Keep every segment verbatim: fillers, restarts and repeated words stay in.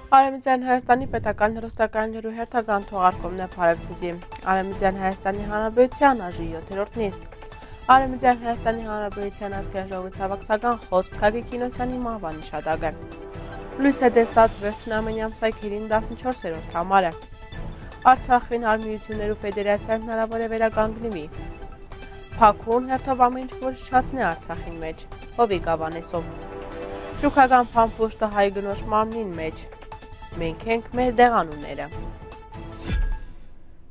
Արևմտյան Հայաստանի պետական հեռուստակայաններու հերթական թողարկումն է Փարեվցիզի։ Արևմտյան Հայաստանի Հանրապետության ԱԺ յոթերորդ նիստ։ Արևմտյան Հայաստանի Հանրապետության ազգային ժողովի ցավակցական խոսք Գագիկ Կինոսյանի մահվան հիշատակը։ Լույս է տեսած վերջնամենի ամսայքերին տասնչորսերորդ համարը։ Արցախին Հարմիություններու ֆեդերացիան հնարավոր է վերականգնվի։ Փաքուն հերթով ամեն ինչ որ շացնի Արցախին մեջ։ Հովիկ Ավանեսով։ Շուքական փամփուշտը հայ գնոջ մարմնին մեջ։ Մենք ենք մեր դեղանունները։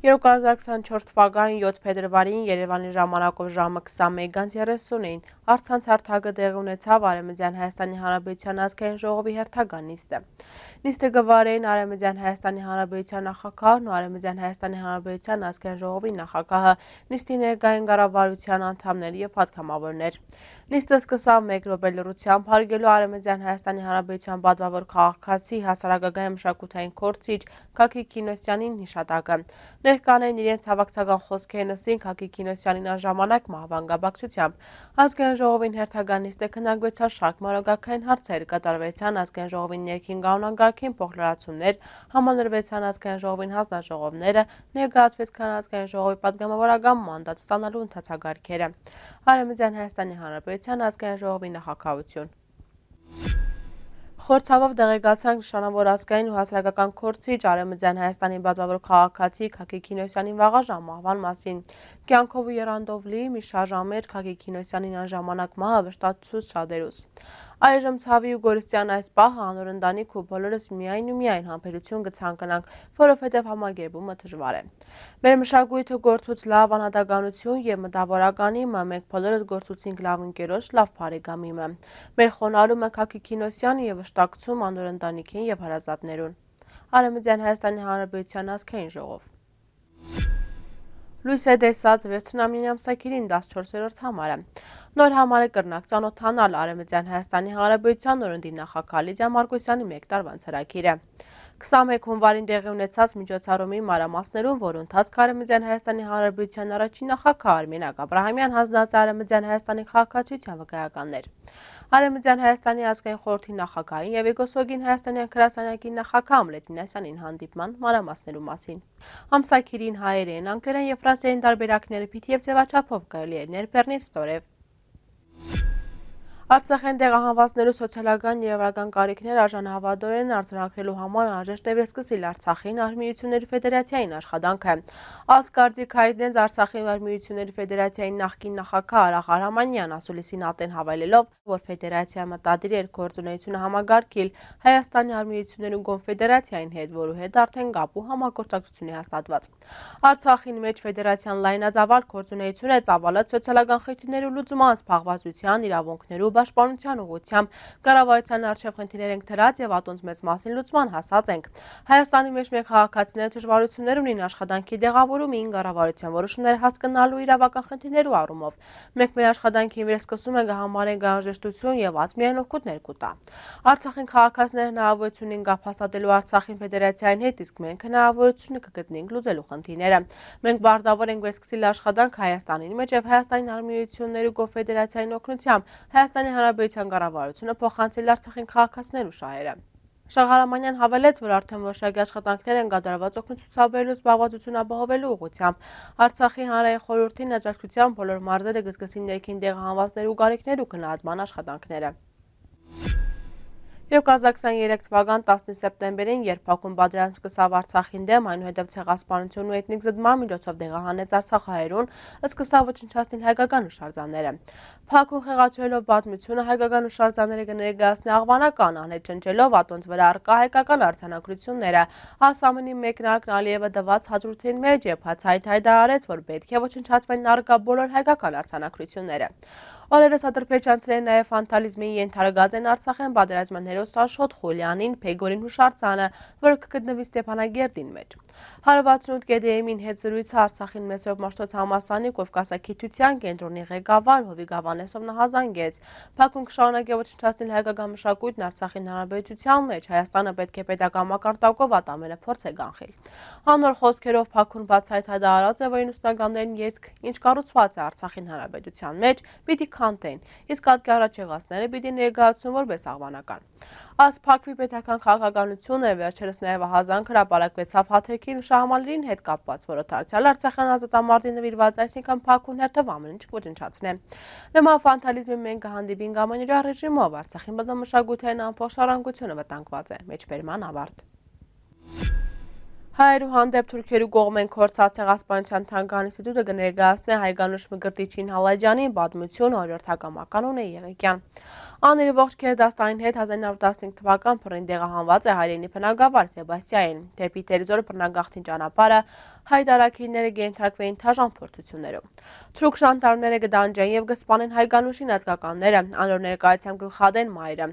երկու հազար քսանչորս թվականի յոթ փետրվարին Երևանի ժամանակով ժամը քսանմեկ երեսունին առցանց հարթակը տեղի ունեցավ Արևմտյան Հայաստանի Հանրապետության ազգային ժողովի հերթական նիստը։ Նիստը գվարեին Արևմտյան Հայաստանի Հանրապետության նախագահն ու Արևմտյան Հայաստանի Հանրապետության ազգային ժողովի նախագահը, նիստի ներկային կառավարության անդամներ եւ պատգամավորներ։ Նիստը սկսավ մեկ րոպե լռությամբ հարգելու Արևմտյան Հայաստանի Հանրապետության պատվավոր քաղաքացի հասարակական մշակութային գործիչ Գագիկ Կինոսյանին հիշատակը։ Ներկանային իրենց հավաքական խոսքերն ըստ Գագիկ Կինոսյանին անժամանակ մահվան կապակցությամբ ազգային ժողովին հերթական նիստը քննարկվեցավ շարք մանրակրկային հարցեր, կատարվեցան ազգային ժողովի ներքին կանոնագարքին փոխլրացումներ, համալրվեցան ազգային ժողովին հանձնաժողովները, ներկայացվեցան ազգային ժողովի պատգամավորական մանդատ ստանալու ընթացագարկերը։ Արևմտյան Հայաստանի Հանրապետության ազգային ժողովի նախագահություն։ Խորհրդավոր դեղեկացանք նշանավոր ազգային ու հասարակական գործիչ Արևմտյան Հայաստանի պատվավոր քաղաքացի Գագիկ Կինոսյանի վաղաժամ մահվան մասին։ Կյանքով ու եռանդով լի մի շարժան մեջ Գագիկ Կինոսյանին անժամանակ մահը վշտացուց շատերուս։ Այժմ ցավի ու գորստյան այս պահը անոր ընտանիք ու բոլորս միայն ու միայն համբերություն կցանկանանք, որովհետև համագերբումը դժվար է։ Մեր մշակույթը գործուց լավ անհատականություն եւ մտավորականի մը մենք բոլորս գործուցինք լավ ընկերոջ, լավ բարեկամի մը։ Մեր խոնարհումը Գագիկ Կինոսյանը եւ վշտակցում անոր ընտանիքին եւ հարազատներուն։ Արևմտյան Հայաստանի Հանրապետության ազգային ժողով։ Լույս է տեսած վերջնամենի ամսայքերին տասնչորսերորդ համարը։ Նոր համարը կրնակ ծանոթանալ Արևմտյան Հայաստանի Հանրապետության նորընտի նախագահ Լիդիա Մարկոսյանի մեկ տարվա ծրագիրը։ քսանմեկ հունվարին տեղի ունեցած միջոցառումի մանրամասներում, որը ընթացք Արևմտյան Հայաստանի Հանրապետության առաջին նախագահ Արմենակ Աբրահամյան հանձնած Արևմտյան Հայաստանի քաղաքացիության վկայականներ։ Արևմտյան Հայաստանի ազգային խորհրդի նախագահին եւ Էգոսոգին Հայաստանյան գրասենյակի նախագահ Ամլետ Մինասյանին հանդիպման մանրամասներու մասին։ Ամսայքերին հայերեն, անգլերեն եւ ֆրանսերեն տարբերակները պիտի եւ ձևաչափով կարելի է ներբեռնել ստորև։ Արցախեն տեղահանվածներու սոցիալական եւ եվրական կարիքներ արժանահավատորեն արձանագրելու համար անհրաժեշտ է վերսկսել Արցախին Արմիությունների ֆեդերացիային աշխատանքը։ Ասկարդիկ հայտնեց Արցախի Արմիությունների ֆեդերացիայի նախկին նախագահ Արախ Արամանյան ասուլիսին ատեն հավելելով, որ ֆեդերացիան մտադիր էր գործունեությունը համագարկել Հայաստանի Արմիություններու կոնֆեդերացիային հետ, որու հետ արդեն կապ ու համագործակցություն է հաստատված։ Արցախին մեջ ֆեդերացիան լայնածավալ գործունեություն է ծավալած սոցիալական խնդիրներու լուծման, զբաղվածության, իրավունքներու պաշտպանության ուղղությամբ կառավարության առջև խնդիրներ ենք դրած եւ ատոնց մեծ մասին լուծման հասած ենք։ Հայաստանի մեջ մեր քաղաքացիները դժվարություններ ունին աշխատանքի տեղավորումին, կառավարության որոշումները հասկանալու իրավական խնդիրներու առումով։ Մենք մեր աշխատանքին վերսկսում ենք համարենք անհրաժեշտություն եւ ատմիան օգուտներ կուտա։ Արցախին քաղաքացիները հնարավորություն են կապ հաստատելու Արցախին ֆեդերացիային հետ, իսկ մենք հնարավորությունը կգտնենք լուծելու խնդիրները։ Մենք բարտավոր ենք վերսկսել աշխատանք Հայաստանին մեջ եւ Հայաստանի Արմիություններու կոնֆեդերացիային օգնությամբ Հայաստանի Հանրապետության կառավարությունը փոխանցել Արցախին քաղաքացիներու շահերը։ Շահարամանյան հավելեց, որ արդեն որոշակի աշխատանքներ են կատարված օգնություն ցուցաբերելու զբաղվածություն ապահովելու ուղղությամբ։ Արցախի հանրային խորհրդին աջակցությամբ բոլոր մարզերը կսկսին ներքին տեղահանվածներու կարիքներու գնահատման աշխատանքները։ երկու հազար քսաներեք թվական տասնինը սեպտեմբերին, երբ Փաքուն պատերազմ սկսավ Արցախին դեմ, այնուհետև ցեղասպանություն ու էթնիկ զտման միջոցով տեղահանեց արցախահայերուն, սկսավ ոչնչացնել հայկական հուշարձանները։ Փաքուն խեղաթյուրելով պատմությունը հայկական հուշարձանները կներկայացնի աղվանական անհետ ճնճելով ատոնց վրա առկա հայկական արձանագրությունները։ Ասամենի մեկնարկն Ալիևը տված հաջորդին մեջ եւ բացահայտ հայտարարեց, որ պետք է ոչնչացվեն առկա բոլոր հայկական արձանագրությունները։ Օրերս Ադրբեջանցիները նաև վանդալիզմի ենթարկած են Արցախյան պատերազմյան հերոս Աշոտ Խուլյանին Փեգորին հուշարձանը, որը կգտնվի Ստեփանագերդին մեջ։ հարվածնութ գեդեեմին հետ զրույցը Արցախին Մեսրոպ Մաշտոց համալսարանի Կովկասագիտության կենտրոնի ղեկավար Հովիկ Ավանեսով նահանձանգեց։ Փաքուն կշարունակի ոչնչացնել հայկական մշակույթն Արցախին հանրապետության մեջ, Հայաստանը պետք է պետական մակարդակով ատամենը փորձ է կանխել։ Անոր խոսքերով Փաքուն բացահայտ հայտարարած է, որ իննսունականներին ետք ինչ կառուցված է Արցախին հանրապետության մեջ, պիտի քանթեին, իսկ հատկի առաջեղածները պիտի ներկայացնουν որպես աղբանական։ Այս փակվի պետական քաղաքականությունը վերջերս նաև ահազանգ հրապարակվեցավ հաթերքին ու շահամալիրին հետ կապված, որը դարձյալ Արցախյան ազատամարտին նվիրված, այսինքն փակուն հերթով ամեն ինչ ոչնչացնե։ Նման ֆանտալիզմի մենք կհանդիպենք ամենօրյա ռեժիմով, Արցախի բնամշակութային ամբողջարարությունը վտանգված է։ Մեջբերման ավարտ։ Հայերու հանդեպ թուրքերու կողմեն կորցած ցեղասպանության թանգարան ինստիտուտը կներկայացնի Հայգանուշ Մկրտիչին Հալաջյանին պատմություն օրորդ հակամականուն է Եղիկյան։ Անիրի ողջ գերդաստանին հետ հազար իննյակ հարյուր տասնհինգ թվական փռին տեղահանված է հայրենի բնակավար Սեբաստիային։ Դեպի Տերձոր բռնագաղթին ճանապարհը հայտարարքինները կենթարկվեին թաժան փորձություններում։ Թուրք ժանդարմները կդանջեն եւ կսպանեն Հայգանուշին ազգականները, անոր ներկայությամբ գլխադեն մայրը։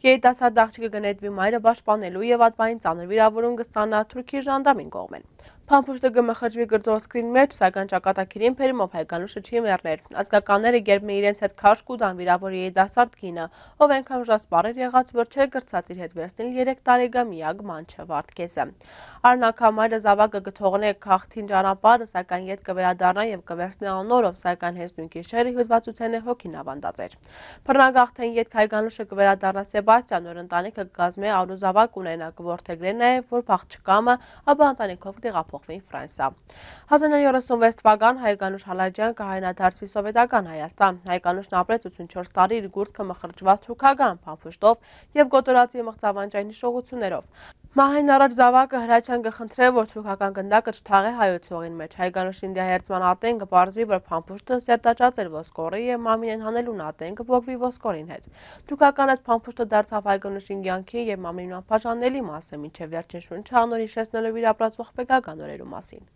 Երիտասարդ աղջիկը կնետվի մայրը պաշտպանելու եւ ատբային ծանր վիրավորում կստանա թուրքի ժանդամին կողմեն։ Փամփուշտը կմխրճվի գրծոսկրին մեջ, սակայն ճակատագիրին բերումով Հայգանուշը չի մեռներ։ Ազգականները գերբն իրենց հետ քաշ կուտան վիրավոր երիտասարդ կինը, ով այնքան ուժասպառ եղած, որ չէր գրծած իր հետ վերցնել երեք տարեկան միակ մանչը Վարդգեսը։ Արնակամայրը զավակը կթողնե քաղաքին ճանապարհը, սակայն ետ կվերադառնա եւ կվերցնի անորով, սակայն հենց նույն գիշերը հյուզվածության է հոգին ավանդած էր։ Բռնագաղթեն ետ Հայգանուշը կվերադառնա Սեբաստիան, որ ընտանիքը կգազմի արու զավակ ունենա, կորթեգրեն նաեւ, որ փախչկամը, ապա ընտանիքով կտեղափոխվի Ֆրանսիա։ հազար իննյակ հարյուր ութսունվեց թվական Հայգանուշ Հալաջյան կհայտնադարձվի սովետական Հայաստան։ Հայգանուշն ապրեց ութսունչորս տարի իր գուրծքը մխրճված թուրքական փամփուշտով եւ գոտորածի մղձավանջային հիշողություններով։ Մահին առաջ զավակը Հրաչյան կխնդրե, որ թուրքական գնդակը չթաղի հայոց հողին մեջ։ Հայգանուշին դիահերձման ատեն կպարզվի, որ փամփուշտը սերտաճած էր ոսկորի եւ մամինեն հանելուն ատեն կփոխվի ոսկորին հետ։ Թուրքական այս փամփուշտը դարձավ Հայգանուշին կյանքի եւ մամինին անբաժանելի մասը, մինչեւ վերջին շունչը անոր հիշեցնելով իր ապրածող պետական օրերու մասին։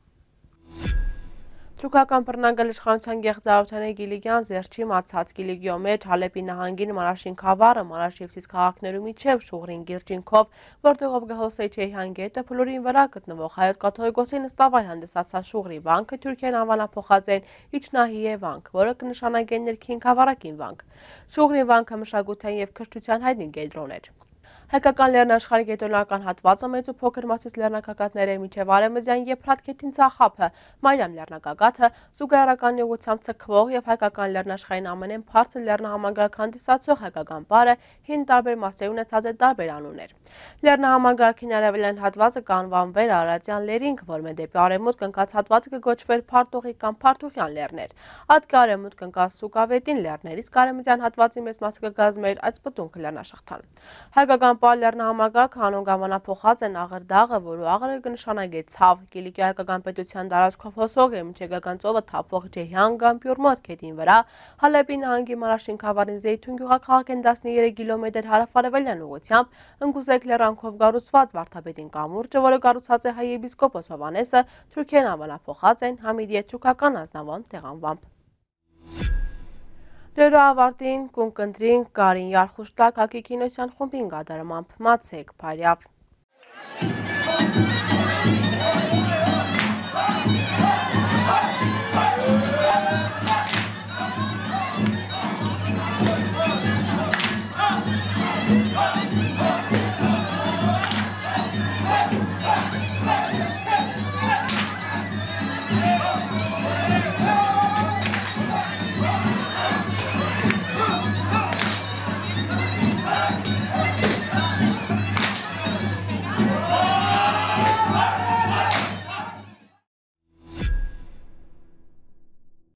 Թուրքական բռնագալ իշխանության գեղձարութենե Գիլիգյան Զերչի մացած Գիլիգիո մեջ Հալեպի նահանգին Մարաշին խավարը, Մարաշ եւ Սիս քաղաքներու միջև Շուղրին գիրճինքով, որտեղով գահոսեի Չեհյան գետը փլուրին վրա գտնվող հայոց կաթողիկոսի նստավայր հանդիսացած Շուղրի վանքը Թուրքիան անվանափոխած են Իջնահիե վանք, որը կնշանակի ներքին խավարակին վանք։ Շուղրի վանքը մշակութային եւ քրթության հայտնի կենտրոն էր։ Հայկական լեռնաշխարհի կենտրոնական հատվածը մեծ ու փոքր մասից լեռնագագաթներ է, մինչև արևմտյան եւ Փրատքեթին ցախափը, Մայրամ լեռնագագաթը, զուգահեռական ուղղությամբ ցկվող եւ հայկական լեռնաշխարհին ամենեն բարձր լեռնահամարգարակ հանդիսացող հայկական բարը հին տարբեր մասեր ունեցած է տարբեր անուններ։ Լեռնահամարգարակին արևելյան հատվածը կանվանվեր Արարատյան լերինք, որը դեպի արևմուտք ընկած հատվածը կգոչվեր Փարտողի կամ Փարթուղյան լեռներ։ Հատկի արևմուտք ընկած Սուկավետին լեռներից արևմտյան հատվածի մեծ մասը կգազմեր այդ սպտունքը լեռնաշղթան։ Հայկական Պար լեռնահամարգարակը հանուն անվանափոխած են Աղրդաղը, որու աղրը կնշանակի ցավ, Կիլիկիա հայկական պետության տարածքով հոսող է, միջեկական ծովը թափվող Ջեհյան կամ Պյուրմոտ քեթին վրա, Հալեպի նահանգի Մարաշին խավարին Զեյթուն գյուղաքաղաքեն տասներեք կիլոմետր հարավ-արևելյան ուղղությամբ, Ընկուզեկ լեռանքով կառուցված Վարդապետին կամուրջը, որը կառուցած է հայ եպիսկոպոս Հովհաննեսը, Թուրքիան անվանափոխած են Համիդիե թուրքական ազնավան տեղանվամբ։ Դերո ավարտին կունկնդրին Կարին Յարխուշտակ հակի կինոսյան խումբին գադարմամբ մացեք Փարյավ։